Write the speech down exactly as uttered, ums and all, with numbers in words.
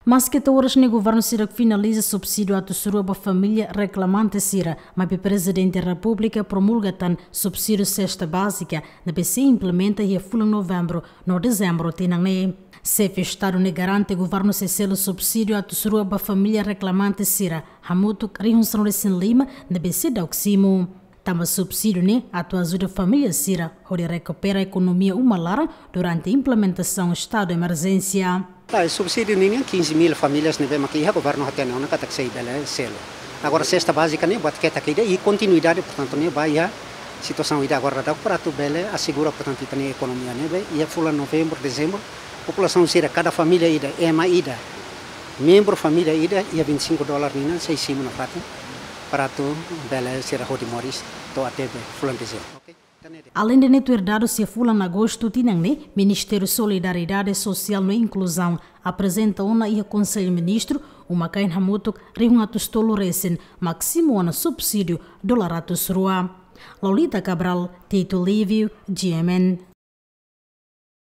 Maske to'o oras ne'e governu sira finaliza subsídiu atus rua ba família reklamante sira, maibé Prezidente Repúblika promulga tan subsídiu sesta bázika ne'ebé sei implementa iha fulan Novembru no Dezembru tinan ne'e. Xefe Estadu ne'e garante governu sei selu subsídiu atus rua ba família reklamante sira, hamutuk rihun sanulu-resin-lima ne'ebé seidauk simu. Tanba subsídiu ne'e atu ajuda família sira hodi rekupera ekonomia uma laran durante implementasaun estadu emerjénsia. Ah, subsídiu ninian quinze mil famílias ne'ebé mak iha, governu hatene ona katak sei bele selu. Agora sesta bázika ne'e buat ketak ida i kontinuidade, portantu ne'e ba iha situasaun ida agora daudaun para atu bele asegura, portantu, ita-nia ekonomia ne'ebé iha fulan Novembru, Dezembru, populasaun sira, kada família ida, ema ida, membru família ida, iha vinte e cinco dólar ninian sei simu nafatin para atu bele sira hodi moris to'o até be fulan Dezembru. Ok? Aleinde ne'e, tuir dadus iha fulan Agostu tinan ne'e, Ministériu Solidariedade Sosiál no Inkluzaun aprezenta ona iha Konsellu Ministru uma-kain hamutuk rihun atus tolu resin mak simu ona subsídiu dolar atus rua. Lolita Cabral, Tito Lívio, G M N.